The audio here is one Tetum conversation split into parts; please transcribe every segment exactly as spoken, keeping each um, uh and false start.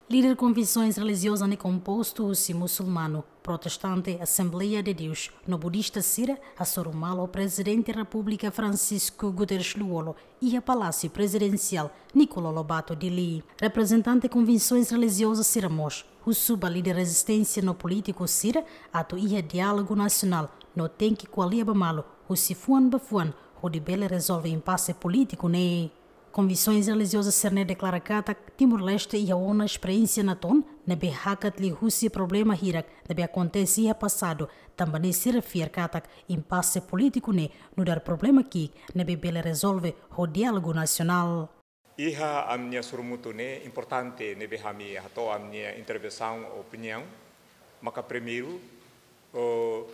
Líder konfesoens relijioza ne'e kompostu husi musulmanu, protestante, Assembleia de Deus no budista sira hasoru malu ho Prezidente Repúblika Francisco Guterres Lú-Olo iha Palásiu Prezidensiál Nicolau Lobato Dili. Reprezentante konfesoens relijioza sira mós husu ba líder rezisténsia no polítiku sira atu iha diálogu nasionál no tenke ko'alia ba malu husi fuan ba fuan hodi bele rezolve impase polítiku ne'e. Konfesoens relijioza sira-ne'e deklara katak Timor-Leste iha ona esperiénsia natoon ne'ebé hakat liu husi problema hirak ne'ebé akontese iha pasadu, tanba ne'e sira fiar katak impase polítiku ne'e nu'udar problema ki'ik ne'ebé bele rezolve ho diálogu nasionál. Iha ami-nia sorumutu ne'e importante ne'ebé ami hato'o ami-nia intervensaun, opiniaun, maka primeiru, o,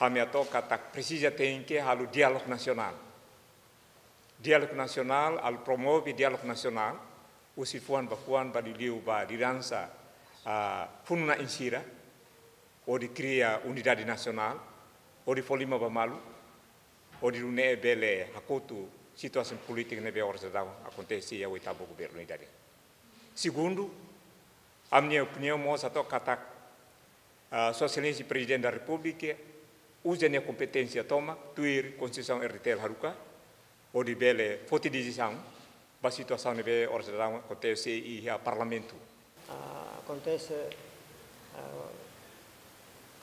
ami hato'o katak presiza tenke halo diálogu nasionál. Diálogu nasionál, halo promove diálogu nasionál, husi fuan ba fuan, ba liuliu ba lideransa, ah, funu-na'in sira, hodi kria unidade nasionál, hodi fó liman ba malu, hodi nune'e bele hakotu situasaun polítika ne'ebé oras dadaun akontese iha oitavu governu ida-ne'e. Segundu, ami-nia opiniaun mós hato'o katak, ah, Sua Exelénsia Prezidente da Repúblika uza nia kompeténsia tomak, tuir Konstituisaun R D T L haruka, hodi bele foti desizaun ba situasaun ne'ebé oras dadaun akontese iha Parlamentu. Ah, akontese, ah,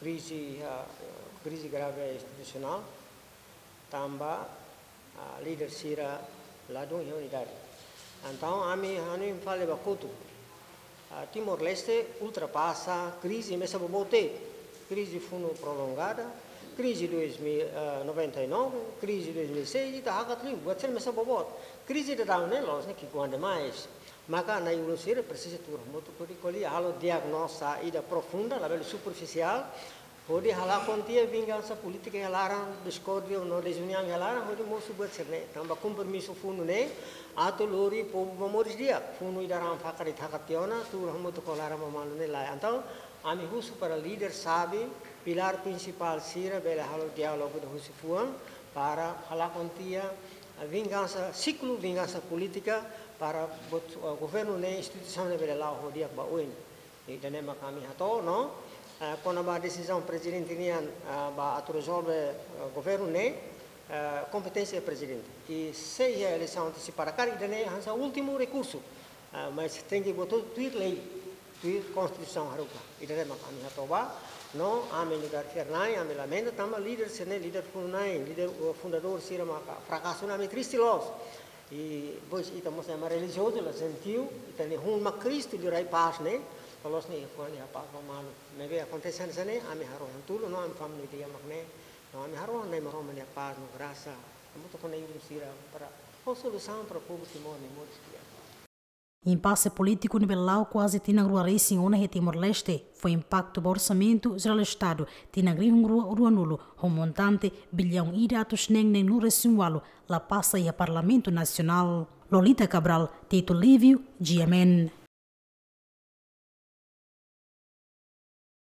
krize, ah, krize grave institusionál, tanba, ah, líder sira ladún iha unidade. Entaun, ami, ami fali ba kotuk, ah, Timor-Leste ultrapasa krize mesak boboot. Krize funu prolongada, krize dois mil, ah, noventa e nove, krize dois mil e seis, ita hakat liu, buat sira mesak boboot. Krize dadaun ne'e, la'ós ne'e ki'ikoan demais. Maka na'i-ulun sira presiza tuur hamutuk hodi ko'alia, halo diagnoza ida profunda, labele superfisiál, hodi halakon tiha vingansa polítika iha laran, diskórdia no dezuniaun iha laran, hodi mosu buat sira-ne'e. Tanba kompromisu funu ne'e atu lori povu ba moris di'ak. Funu ida raan fakar ita hakat tiha ona, tuur hamutuk ho laran ba malu ne'e lae. Entaun, ami husu para líder sabi, pilár prinsipál sira bele halo diálogu ida husi fuan, para halakon tiha vingansa, siklu vingansa polítika, para buat, eh, governu ne'e, instituisaun ne'e bele la'o ho di'ak ba oin. Ida-ne'e mak ami hato'o, no? Eh, kona-ba desizaun prezidente nian, eh, ba atu rezolve, eh, governu ne'e, eh, kompeténsia prezidente. I se iha eleisaun antesipada karik, ida-ne'e hanesan últimu rekursu. Eh, mas tenke buat hotu tuir lei, tuir Konstituisaun haruka. Ida-ne'e mak ami hato'o ba, no, ami nu'udar fiar-na'in, ami lamenta tanba líder sira-ne'e, líder funu-na'in, líder, eh, fundadór sira maka frakasu, no ami triste loos. I depois ita mós ema relijiozu, la jentiu, ita-nia hun mak Kristu liurai pás ne'e, loloos ne'e iha fuan iha pás ba malu. Ne'ebé akontese hanesan ne'e, ami harohan tulun, no ami família di'ak mak ne'e, no ami harohan Na'i Maromak nia pás no grasa, hamutuk ho na'i-ulun sira para fó solusaun para povu Timor nia moris di'ak. Impase polítiku ne'ebé la'o kuaze tinan rua resin ona iha Timor-Leste fó impaktu ba orsamentu jerál Estadu tinan rihun rua ruanulu ho montante biliaun ida atus neen neenulu resin ualu la pasa iha Parlamentu Nasionál. Lolita Cabral, Tito Lívio, G M N.